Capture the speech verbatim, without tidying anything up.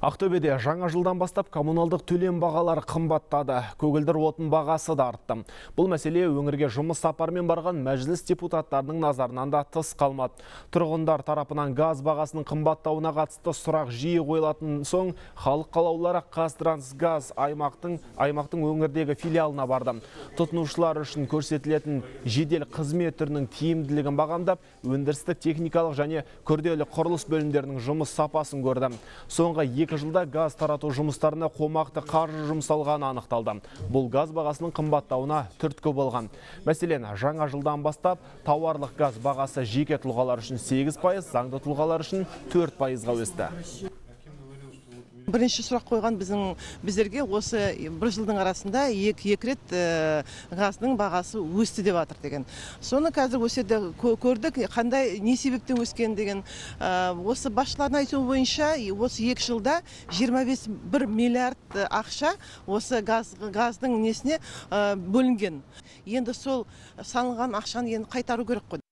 Ақтөбеде жаңа жылдан бастап коммуналдық төлем бағалары қымбаттады. Көгілдір отын бағасы да артты. Бұл мәселе өңірге жұмыс сапармен барған мәжіліс депутаттарының назарынан да тыс қалмады. Тұрғындар тарапынан газ бағасының қымбаттауына қатысты сұрақ жиі қойылатын соң, халық қалаулылары Қазтрансгаз аймақтың аймақтың өңірдегі филиалына барды. Тұтынушылар үшін көрсетілетін жедел қызмет түрінің тиімділігін бағамдап, өндірістік техникалық және күрделі құрылыс бөлімдерінің жұмыс сапасын көрді. Соңғы екі жылда газ тарату жұмыстарына қомақты қаржы жұмсалғаны анықталды. Бұл газ бағасының қымбаттауына түрткі болған. Мәселен, жаңа жылдан бастап тауарлық газ бағасы жеке тұлғалар үшін сегіз пайыз, заңды тұлғалар үшін төрт пайызға өсті. Бірінші сұрақ қойған біздің біздерге осы бір жылдың арасында екі екі рет газдың бағасы өсті деп жатыр деген. Соны қазір өседі көрдік, қандай не себептен өскен деген. Осы басшылардың айтуы бойынша осы екі жылда жиырма бес бір миллиард ақша осы газ газдың несіне бөлінген. Енді сол салынған ақшаны енді қайтару керек қой.